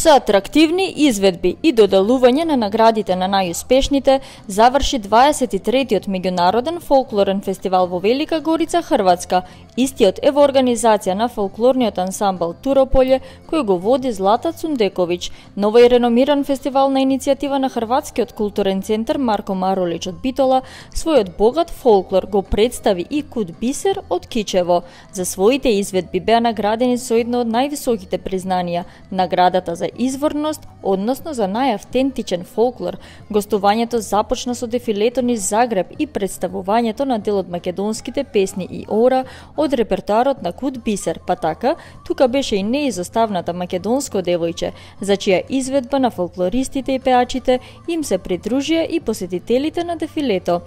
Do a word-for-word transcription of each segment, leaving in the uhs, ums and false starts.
Со атрактивни изведби и доделување на наградите на најуспешните, заврши дваесет и третиот меѓународен фолклорен фестивал во Велика Горица, Хрватска. Истиот е во организација на фолклорниот ансамбл Турополје, кој го води Злата Цундековиќ. Нова и реномиран фестивал на иницијатива на Хрватскиот културен центар Марко Маролич од Битола, својот богат фолклор го представи и Куд Бисер од Кичево. За своите изведби беа наградени со едно од највисоките признанија, наградата за изворност, односно за најавтентичен фолклор. Гостувањето започна со дефилето низ Загреб и представувањето на дел од македонските песни и ора од репертоарот на Куд Бисер, па така, тука беше и неизоставната македонско девојче, за чија изведба на фолклористите и пеачите им се придружија и посетителите на дефилето.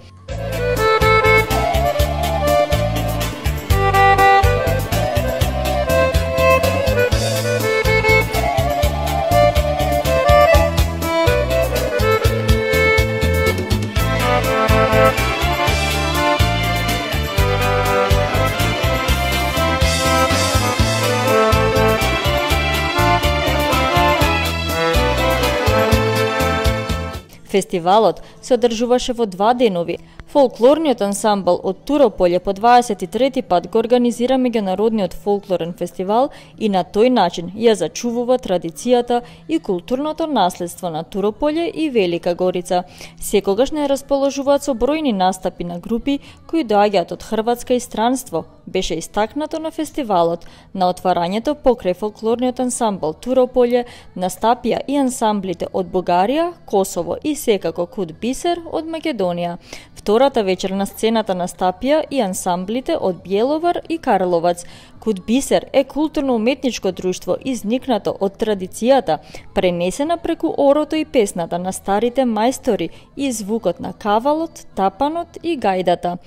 Фестивалот се одржуваше во два денови. Фолклорниот ансамбл од Турополје по дваесет и трети пат го организира меѓународниот фолклорен фестивал и на тој начин ја зачувува традицијата и културното наследство на Турополје и Велика Горица. Секогаш не расположуваат со бројни настапи на групи кои доаѓаат од Хрватска и странство. Беше истакнато на фестивалот. На отварањето покрај фолклорниот ансамбл Турополје настапија и ансамблите од Бугарија, Косово и секако Куд Бисер од Македонија. Втората вечер на сцената настапија и ансамблите од Бјеловар и Карловац. Куд Бисер е културно-уметничко друштво изникнато од традицијата, пренесена преку орото и песната на старите мајстори и звукот на кавалот, тапанот и гајдата.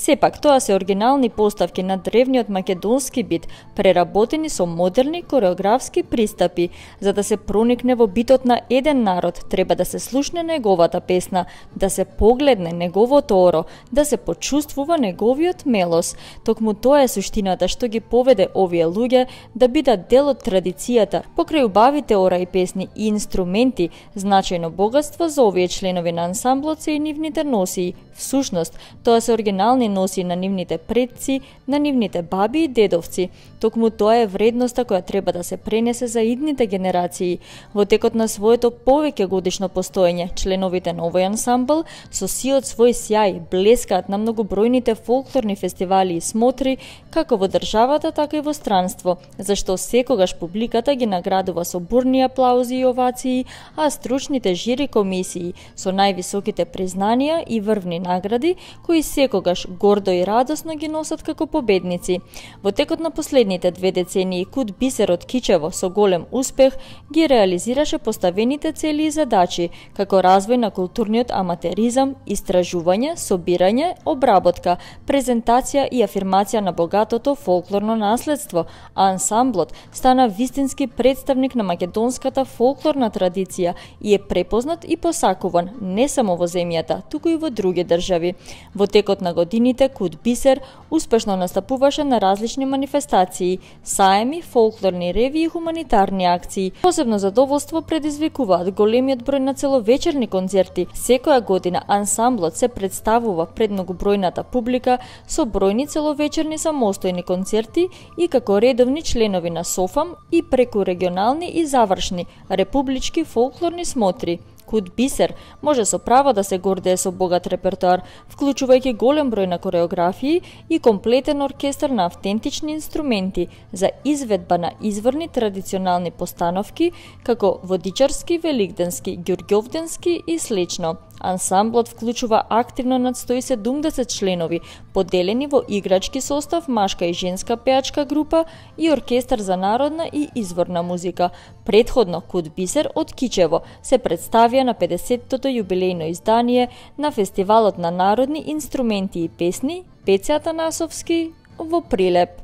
Сепак, тоа се оригинални поставки на древниот македонски бит, преработени со модерни кореографски пристапи. За да се проникне во битот на еден народ, треба да се слушне неговата песна, да се погледне неговото оро, да се почувствува неговиот мелос. Токму тоа е суштината што ги поведе овие луѓе да бидат дел од традицијата. Покрај убавите ора и песни и инструменти, значајно богатство за овие членови на ансамблот се и нивните носии. Всушност, тоа се оригинални носи на нивните предци, на нивните баби и дедовци. Токму тоа е вредноста која треба да се пренесе за идните генерации. Во текот на своето повеќе годишно постоење, членовите на овој ансамбл со сиот свој сјај блескаат на многобројните фолклорни фестивали и смотри, како во државата, така и во странство, зашто секогаш публиката ги наградува со бурни аплаузи и овации, а стручните жири комисии со највисоките признанија и врвни награди, кои секогаш гордо и радосно ги носат како победници. Во текот на последните две децении Куд Бисер од Кичево со голем успех ги реализираше поставените цели и задачи, како развој на културниот аматеризам, истражување, собирање, обработка, презентација и афирмација на богатото фолклорно наследство, а ансамблот стана вистински представник на македонската фолклорна традиција и е препознат и посакуван не само во земјата, туку и во други држави. Во текот на годините Куд Бисер успешно настапуваше на различни манифестации, саеми, фолклорни реви и хуманитарни акции. Посебно задоволство предизвикуваат големиот број на целовечерни концерти. Секоја година ансамблот се представува пред многобројната публика со бројни целовечерни самостојни концерти и како редовни членови на СОФАМ и преку регионални и завршни републички фолклорни смотри. Куд Бисер може со право да се гордее со богат репертоар, вклучувајќи голем број на кореографии и комплетен оркестар на автентични инструменти за изведба на изворни традиционални постановки, како водичарски, великденски, ѓурѓовденски и слично. Ансамблот вклучува активно над сто и седумдесет членови, поделени во играчки состав, машка и женска пеачка група и оркестар за народна и изворна музика. Предходно Куд Бисер од Кичево се представија на педесеттото јубилејно издание на Фестивалот на народни инструменти и песни Пеце Атанасовски во прилеп.